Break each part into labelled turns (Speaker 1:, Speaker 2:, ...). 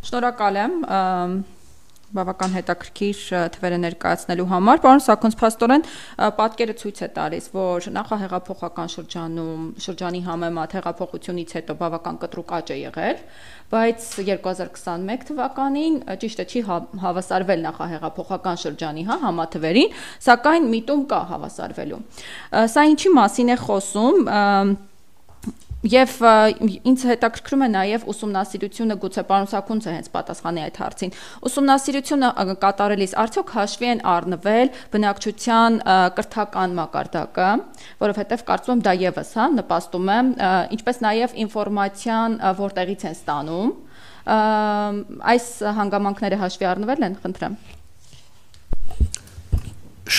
Speaker 1: Շնորհակալ եմ բավական հետաքրքիր թվերը ներկայացնելու համար։ Պարոն Սաքոնց, փաստորեն պատկերը ցույց է տալիս, որ նախահեղափոխական շրջանի համեմատ հեղափոխությունից հետո բավական կտրուկ աճ է եղել, բայց 2021 թվականին ճիշտ է չի հավասարվել նախահեղափոխական շրջանի համաթվերին, սակայն միտում կա հավասարվելու։ Սա ինչի մասին է խոսում։ Եվ ինձ հետաքրքրում է նաև ուսումնասիրությունը, գուցե պարոն Սաքունցը հենց պատասխանի այդ հարցին։ Ուսումնասիրությունը կատարելիս արդյոք հաշվի են առնվել բնակչության կրթական մակարդակը, որովհետև կարծում եմ դա եւս նպաստում է, ինչպես նաև ինֆորմացիան որտեղից են ստանում։ Այս հանգամանքները հաշվի առնվել են, խնդրեմ։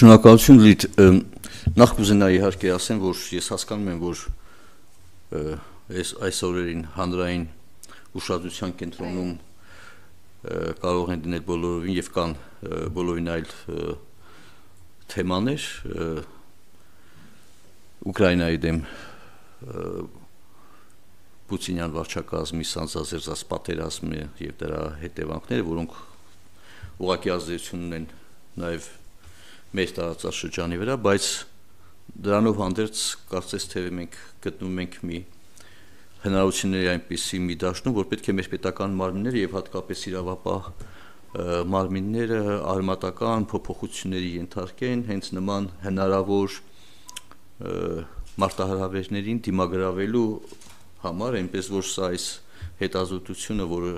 Speaker 2: Շնորհակալություն Լիդ, նախ կուզենայի իհարկե ասեմ, որ ես հասկանում եմ, որ այս օրերին հանրային ուշադրության կենտրոնում կարող են դնել բոլորովին եւ կան բոլորին այլ թեմաներ Ուկրաինայի դեմ Պուտինյան վարչակազմի սանձազերծած պատերազմը եւ դրա հետևանքները, որոնք ուղղակի ազդեցություն ունեն նաեւ մեր տարածաշրջանի վրա, բայց դրանով հանդերձ կարծես թե մենք գտնում ենք մի հնարավորությունների այնպիսի մի դաշտում, որ պետք է մեր պետական մարմինները եւ հատկապես իրավապահ մարմինները արմատական փոփոխությունների ենթարկեն հենց նման հնարավոր մարտահրավերներին դիմագրավելու համար, այնպես որ սա այս հետազոտությունը, որը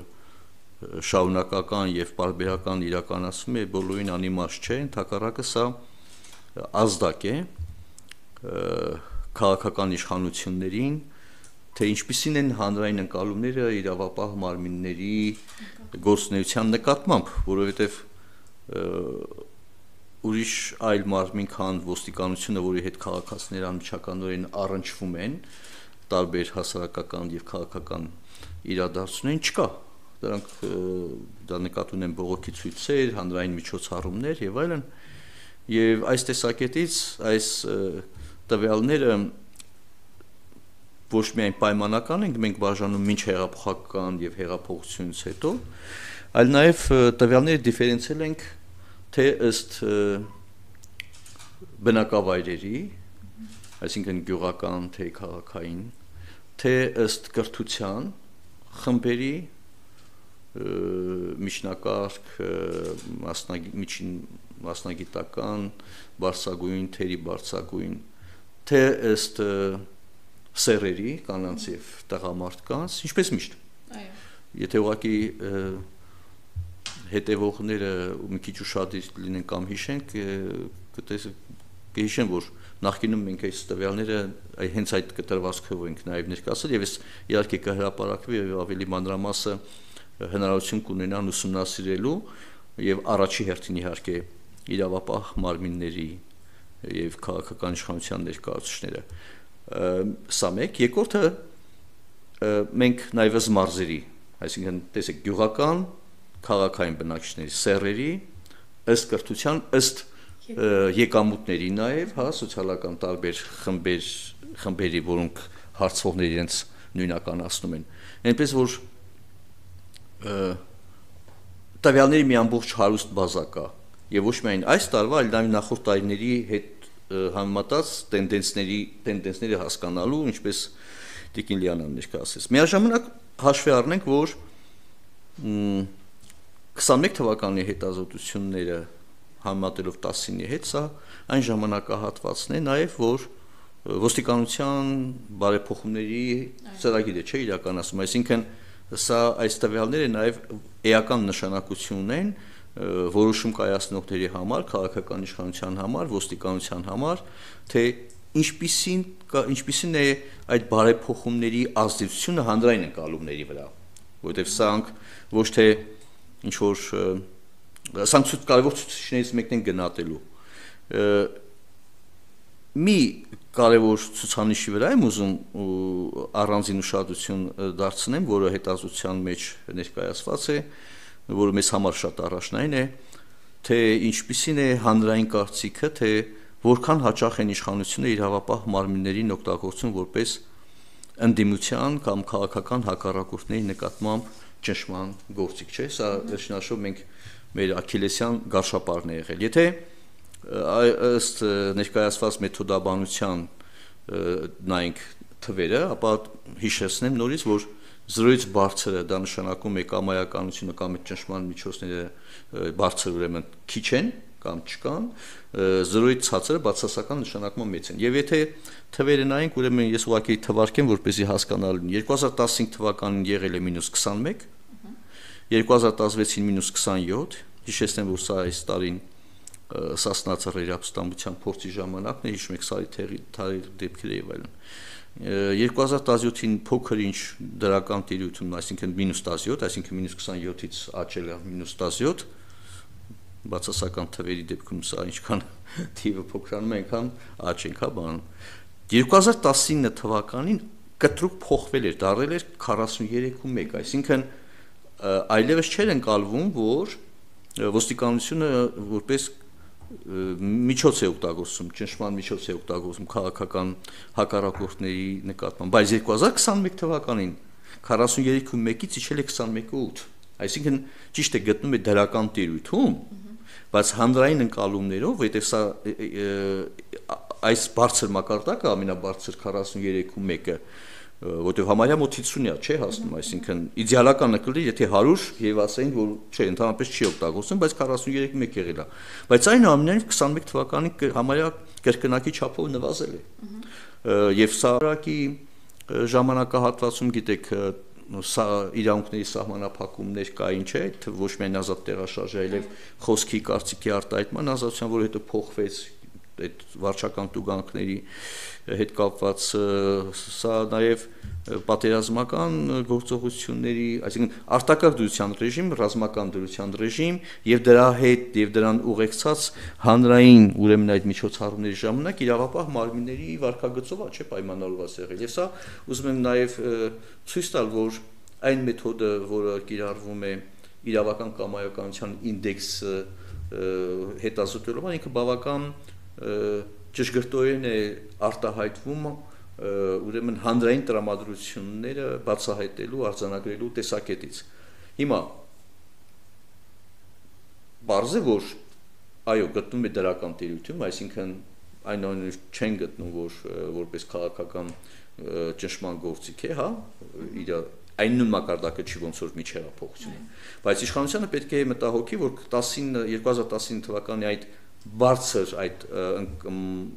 Speaker 2: շարունակական եւ պարբերական իրականացում է, բոլորին անիմաստ չէ, ընդհակառակը սա ազդակ է քաղաքական իշխանություններին, թե ինչպիսին են հանրային ընկալումները իրավապահ մարմինների գործունեության նկատմամբ, որովհետև ուրիշ այլ մարմին քան ոստիկանությունը, որի հետ քաղաքացիները անմիջականորեն առնչվում են, տարբեր հասարակական եւ քաղաքական իրադարձություններին չկա։ Դրանք դա նկատի ունեն բողոքի ցույցեր, հանրային միջոցառումներ եւ այլն, եւ այս տեսակետից այս տվյալները ոչ միայն պայմանական ենք մենք բաժանում մինչ հեղափոխական եւ հեղափոխությունից հետո, այլ նաեւ տվյալները դիֆերենցիալ ենք թե ըստ բնակավայրերի, այսինքն գյուղական թե քաղաքային, թե ըստ կրթության խմբերի, միջնակարգ, մասնագիտական, բարձրագույն, թերի բարձրագույն, թե ըստ սերերի, կանանց եւ տղամարդկանց, ինչպես միշտ։ Այո։ Եթե ուղղակի հետևողները մի քիչ ուշադիր լինեն կամ հիշենք, կհիշեն, որ նախկինում մենք այս տվյալները հենց այդ կտրվածքով ենք նաեւ ներկայացրել եւ ես իհարկե կհրապարակվի եւ ավելի մանրամասը հնարավորություն կունենան ուսումնասիրելու եւ առաջի հերթին իհարկե իրավապահ մարմինների եւ քաղաքական իշխանության ներկայացուցիչները սա մեկ, երկրորդը մենք նաեւ մարզերի, այսինքն տեսեք գյուղական քաղաքային բնակիչների սեռերի ըստ կրթության, ըստ եկամուտների նաեւ, սոցիալական տարբեր խմբերի, որոնք հարցվողները իրենց նույնականացնում են, այնպես որ տվյալների մի ամբողջ հարուստ բազա կա եւ ոչ միայն այս տարվա, այլ նաեւ նախորդ տարիների հետ համեմատած տենդենսները հասկանալու, ինչպես Տիկին Լիանան ներկայացրեց։ Միաժամանակ հաշվի առնենք, որ 21 թվականի հետազոտությունները համեմատելով 19-ի հետ, սա այն ժամանակահատվածն է նաեւ, որ ոստիկանության բարեփոխումների ծրագիրը չէ իրականացում, այսինքն սա այս տվյալները նաեւ էական նշանակություն ունեն որոշում կայացնողների համար, քաղաքական իշխանության համար, ոստիկանության համար, թե ինչպիսին է այդ բարեփոխումների ազդեցությունը հանրային ընկալումների վրա, որովհետև սրանք ոչ թե ինչ որ սրանք կարևոր ցուցիչներից մեկն են գնահատելու։ Մի կարևոր ցուցանիշի վրա եմ ուզում առանձին ուշադրություն դարձնեմ, որը հետազոտության մեջ ներկայացված է, որը մեզ համար շատ առաջնային է, թե ինչպիսին է հանրային կարծիքը, թե որքան հաճախ են իշխանությունը իրավապահ մարմիններին օգտագործում որպես ընդդիմության կամ քաղաքական հակառակորդների նկատմամբ ճնշման գործիք չէ, սա վերջնաշով մենք մեր Աքիլեսյան գարշապարն է եղել։ Եթե ըստ ներկայացված մեթոդաբանության նայենք թվերը, ապա հիշեցնեմ նորից, որ 0-ից բարձրը դա նշանակում է կամայականությունը կամ ճնշման միջոցները բարձր ուրեմն քիչ են կամ չկան, 0-ից ցածրը բացասական նշանակումը մեծ են։ Եվ եթե թվերը նայենք, ուրեմն ես ուղղակի թվարկեմ, որպեսզի հասկանալու 2015 թվականին եղել է -21, 2016-ին -27, հիշեցնեմ, որ սա այս տարին Սասնա ծռերի ապստամբության փորձի ժամանակն է, հիշում եք սարի դեպքերը եւ այլն։ 2017-ին փոքր ինչ դրական տիրույթում, այսինքն -17, այսինքն -27-ից աճել է -17, բացասական թվերի դեպքում սա ինչքան թիվը փոքրանում է, այնքան աճենք, հա, բան։ 2019 թվականին կտրուկ փոխվել էր, դառել էր 43.1, այսինքն այլևս չէր ընկալվում, որ ոստիկանությունը որպես միջոց է օգտագործում, ճնշման միջոց է օգտագործում քաղաքական հակառակորդների նկատմամբ, բայց 2021 թվականին 43.1-ից իջել է 21.8, այսինքն ճիշտ է գտնում է դրական տիրույթում, բայց հանրային ընկալումներով, որտեղ սա այս բարձր մակարդակը ամենաբարձր 43.1-ը, որտեղ համարյա մոտ 50-ը չէ հասնում, այսինքն իդեալականը կլինի, եթե 100 եւ ասենք, որ չէ, ընդհանրապես չի օգտագործում, բայց 43.1 եղել է։ Բայց այնուամենայնիվ 21 թվականին համարյա կրկնակի չափով նվազել է։ Եվ սա ռակի ժամանակահատվածում, գիտեք, սա իրավունքների սահմանափակումներ կային, չէ, ոչ միայն ազատ տեղաշարժ, այլև խոսքի, կարծիքի արտահայտման ազատության, որը հետո փոխվեց այդ վարչական տուգանքների հետ կապված, սա նաև պատերազմական գործողությունների, այսինքն արտակարգ դրության ռեժիմ, ռազմական դրության ռեժիմ եւ դրա հետ եւ դրան ուղեկցած հանրային ուրեմն այդ միջոցառումների ժամանակ իրավապահ մարմինների վարկագծով չէ պայմանավորված եղել։ Եվ սա ուզում եմ նաև ցույց տալ, որ այն մեթոդը, որը կիրառվում է իրավական կամայականության ինդեքսը հետազոտելով, ինքը բավական ճշգրտորեն է արտահայտվում ուրեմն հանրային տրամադրությունները բացահայտելու, արձանագրելու տեսակետից։ Հիմա բարձ է, որ այո, գտնում է դրական տիրույթում, այսինքն այնուամենայնիվ չեն գտնում, որ որպես քաղաքական ճնշման գործիք է, հա, իր այն նույն մակարդակը չի ոնց որ միջի հեղափոխությունը, բայց իշխանությանը պետք է մտահոգի, որ 2019 թվականի այդ բարձր այդ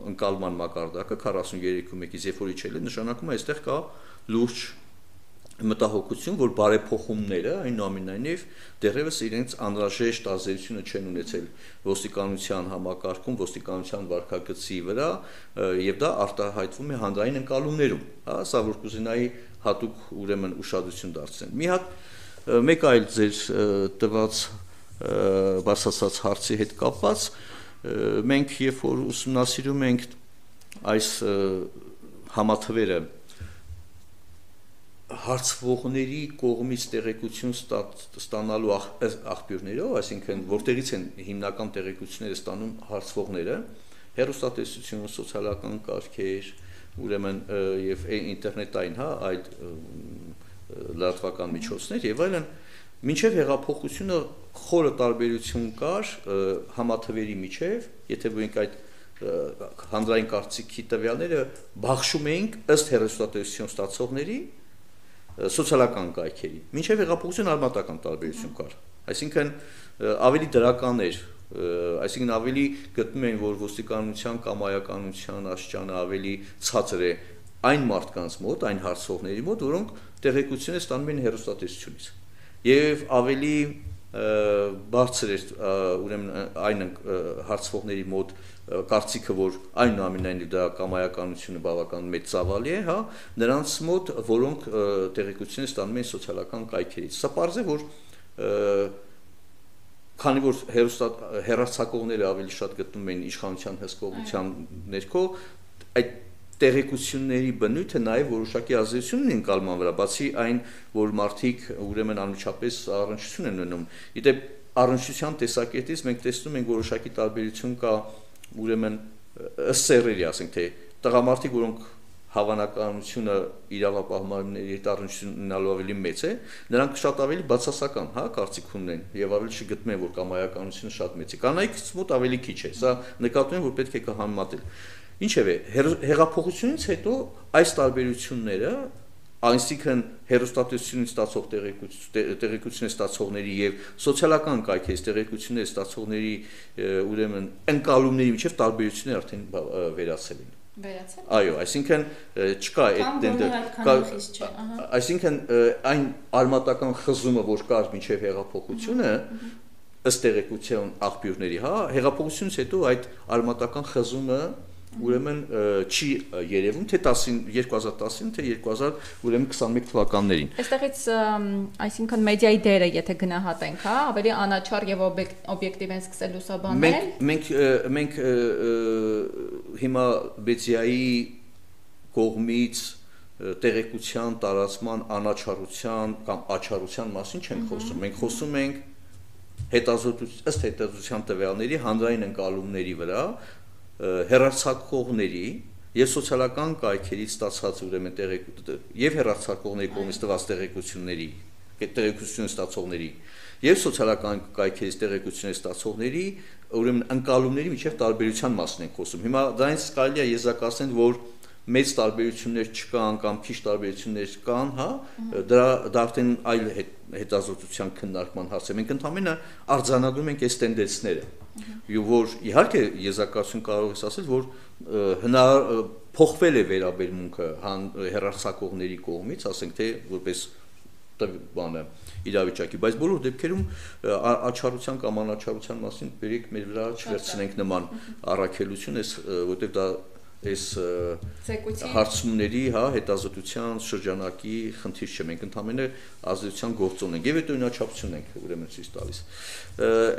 Speaker 2: ընկալման մակարդակը 43.1-ից երբ որ իջել է, նշանակում է այստեղ կա լուրջ մտահոգություն, որ բարեփոխումները այնուամենայնիվ դեռևս իրենց անհրաժեշտ ազդեցությունը չեն ունեցել ոստիկանության համակարգում, ոստիկանության վարքագծի վրա, եւ դա արտահայտվում է հանրային ընկալումներում, հա, սա որ կուզենայի հատուկ ուրեմն ուշադրություն դարձնել։ Մի հատ մեկ այլ ձեր տված բացասած հարցի հետ կապված, մենք երբ որ ուսումնասիրում ենք այս համաթվերը հարցվողների կողմից տեղեկություն ստանալու աղբյուրներով, այսինքն որտեղից են հիմնական տեղեկությունները ստանում հարցվողները, հեռուստատեսություն, սոցիալական կարգեր, ուրեմն եւ ինտերնետային, հա, այդ լրատվական միջոցներ եւ այլն, մինչեւ հեղափոխությունը խորը տարբերություն կար համաթվերի միջեւ, եթե մենք այդ հանրային կարծիքի տվյալները բաշխում էինք ըստ հեռուստատեսություն ստացողների սոցիալական կայքերի, մինչև հեղափոխություն արմատական տարբերություն կար, այսինքն ավելի դրական էր, այսինքն ավելի գտնում էին, որ ոստիկանության կամայականության աստիճանը ավելի ցածր է այն մարդկանց մոտ, այն հարցողների մոտ, որոնք տեղեկությունները ստանում են հեռուստատեսությունից, եւ ավելի բարձր էր ուրեմն այն հարցվողների մոտ կարծիքը, որ այնուամենայնիվ դա կամայականությունը բավական մեծ ծավալի է, հա, նրանց մոտ, որոնք տեղեկությունները ստանում են սոցիալական կայքերից։ Սա պարզ է, որ քանի որ հեռարձակողները ավելի շատ գտնում են իշխանության հսկողության ներքո, այդ տեղեկությունների բնույթը նաև որոշակի ազդեցություն ունի ընկալման վրա, բացի այն, որ մարդիկ ուրեմն անմիջապես առնչություն են ունենում։ Իդեպ առնչության տեսակետից մենք տեսնում ենք որոշակի տարբերություն կա ուրեմն ըստ սեռերի, ասենք թե տղամարդիկ, որոնք հավանականությունը իրավապահմանների տարություննալու ավելի մեծ է, նրանք շատ ավելի բացասական, հա, կարծիք ունեն եւ ավելի չգտնեն, որ կամայականությունը շատ մեծ է։ Կանայքից մոտ ավելի քիչ է։ Սա նկատում եմ, որ պետք է կհամեմատել։ Ինչևէ, հեղափոխությունից հետո այս տարբերությունները, այսինքն հերոստատությունից ստացող տեղեկություններ ստացողների եւ սոցիալական կայքերից տեղեկություններ ստացողների ուրեմն ընկալումների միջև տարբերություններ արդեն վերացել են։
Speaker 1: Վերացել։
Speaker 2: Այո, այսինքն չկա այդ այսինքն այն արմատական խզումը, որ կար մինչև հեղափոխությունը, ըստ տեղեկության աղբյուրների, հա, հեղափոխությունից հետո այդ արմատական խզումը ուրեմն չի երևում թե 2010-ին թե 2021 թվականներին։
Speaker 1: Այստեղից այսինքն մեդիայի դերը եթե գնահատենք, հա, ավելի անաչառ եւ օբյեկտիվ են սկսել լուսաբանել։
Speaker 2: Մենք հիմա մեդիայի կողմից տեղեկության տարածման անաչառության կամ աչառության մասին չենք խոսում։ Մենք խոսում ենք ըստ հետազոտության տվյալների հանրային ընկալումների վրա հեռարձակողների եւ սոցիալական կայքերից ստացած ուրեմն եւ հեռարձակողների կողմից տված տեղեկությունների ստացողների եւ սոցիալական կայքերից տեղեկություններ ստացողների ուրեմն ընկալումների միջև տարբերության մասն ենք խոսում։ Հիմա դրանից կարելի է եզրակացնել, որ մեծ տարբերություններ չկան կամ քիչ տարբերություններ կան, հա, դա արդեն այլ հետազոտության քննարկման հարց է։ Մենք ընդհանրապես արձանագրում ենք այս տենդենսները։ Եվ որ իհարկե եզրակացություն կարող ես ասել, որ փոխվել է վերաբերմունքը հեռարձակողների կողմից, ասենք թե որպես բանը իրավիճակի, բայց բոլոր դեպքերում աչառության կամ անաչառության մասին բերեք մեր վրա չվերցնենք նման առաքելություն, որտեղ դա այս հարցումների, հա, հետազոտության շրջանակի խնդիր չէ, մենք ընդհանրապես ազդեցության գործոն ենք եւ այդ օրինաչափություն ենք ուրեմն ցույց տալիս։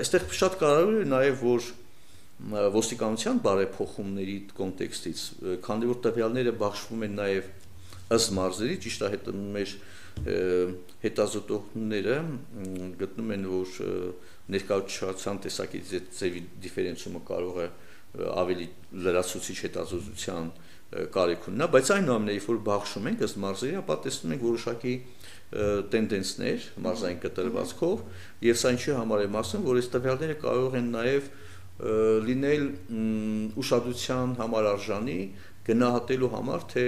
Speaker 2: Այստեղ շատ կարևոր է նաեւ, որ ոստիկանության բարեփոխումների կոնտեքստից, քանի որ տվյալները բաշխվում են նաեւ ըստ մարզերի, ճիշտ է, մեր հետազոտողները գտնում են, որ ներկայացության տեսակետից ձևի դիֆերենցիումը կարող է ավելի լրացուցիչ հետազոտության կարիք ունենա, բայց այնուամենայնիվ որ բաշխում ենք ըստ մարզերի, ապա տեսնում ենք որոշակի տենդենսներ մարզային կտրվածքով, եւ սա ինչի համար եմ ասում, որ այս տվյալները կարող են նաեւ լինել ուշադրության համար արժանի գնահատելու համար, թե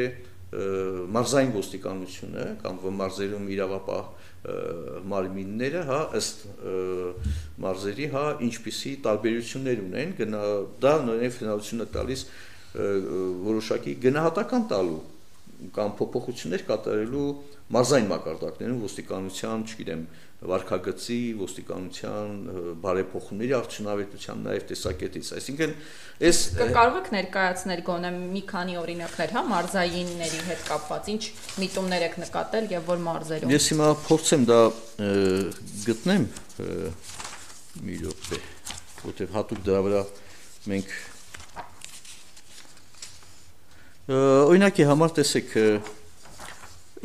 Speaker 2: մարզային ոստիկանությունը կամ մարզերում իրավապահ մարմինները, հա, ըստ մարզերի, հա, ինչպիսի տարբերություններ ունեն, դա նույնիսկ հնարավորություն է տալիս որոշակի գնահատական տալու կամ փոփոխություններ կատարելու մարզային մակարդակներում ոստիկանության, չգիտեմ, վարքագծի, ոստիկանության բարեփոխումների արդյունավետության նաև տեսակետից։ Այսինքն, այս
Speaker 1: կարող եք ներկայացնել գոնե մի քանի օրինակներ, հա, մարզայինների հետ կապված, ինչ միտումներ եք նկատել եւ որ մարզերում։
Speaker 2: Ես հիմա փորձեմ դա գտնեմ մի րոպե, որտեղ հատուկ դրա վրա մենք օրինակի համար տեսեք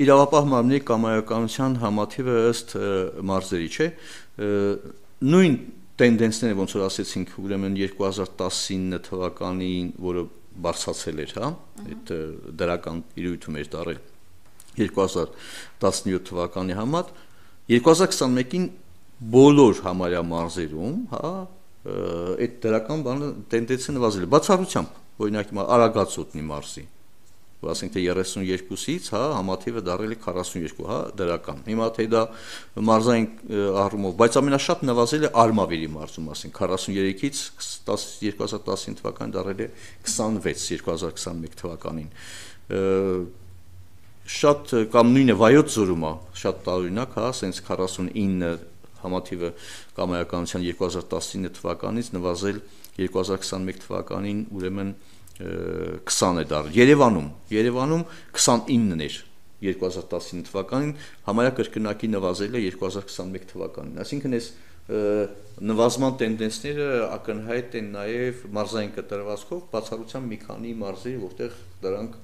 Speaker 2: իրավապահ մարմնի կամայականության համաթիվը ըստ մարզերի, չէ, նույն տենդենսները ոնց որ ասեցինք, ուրեմն 2019 թվականին, որը բարձրացել էր, հա, այդ դրական իրույթում էր դարել 2017 թվականի համեմատ 2021-ին բոլոր համարյա մարզերում, հա, այդ դրական բանը տենդենսը նվազել է, բացառությամբ, օրինակ Արագածոտնի մարզի, ասենք թե 32-ից, հա, համաթիվը դարել է 42, հա, դրական։ Հիմա թե դա մարզային առումով, բայց ամենաշատ նվազել է Արմավիրի մարզում, ասենք 43-ից 2019 թվականին դարել է 26 2021 թվականին։ Շատ կամ նույնը Վայոց ձորում է, շատ տարօրինակ, հա, ասենց 49 համաթիվը կամայականության 2019 թվականից նվազել 2021 թվականին, ուրեմն 20 է դարել։ Երևանում 29-ն էր 2019 թվականին, համարյա կրկնակի նվազել է 2021 թվականին։ Այսինքն այս նվազման տենդենսները ակնհայտ են նաև մարզային կտրվածքով, բացառությամբ մի քանի մարզերի, որտեղ դրանք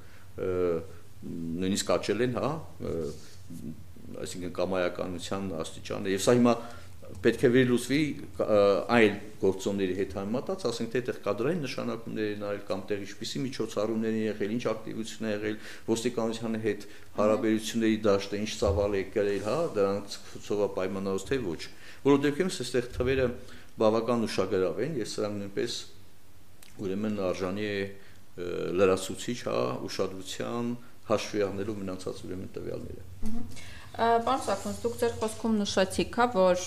Speaker 2: նույնիսկ աճել են, հա, այսինքն կամայականության աստիճանը, եւ սա հիմա պետք է վերլուծվի այլ գործոնների հետ համեմատած, ասենք թե այդտեղ կադրային նշանակումներ են արել կամ տեղ ինչպիսի միջոցառումներ են եղել, ինչ ակտիվություն է եղել, ոստիկանության հետ հարաբերությունների դաշտը ինչ ծավալ է կրել, հա, դրանցով պայմանավորված թե ոչ։ Որովհետև դեպքում այստեղ թվերը բավական ուշագրավ են, եւ սրանք նույնպես ուրեմն արժանի է լրացուցիչ, հա, ուշադրության հաշվի առնելու մնացած ուրեմն տվյալները։
Speaker 1: Պարոն Սաքունց, դուք ձեր խոսքում նշեցիք, հա, որ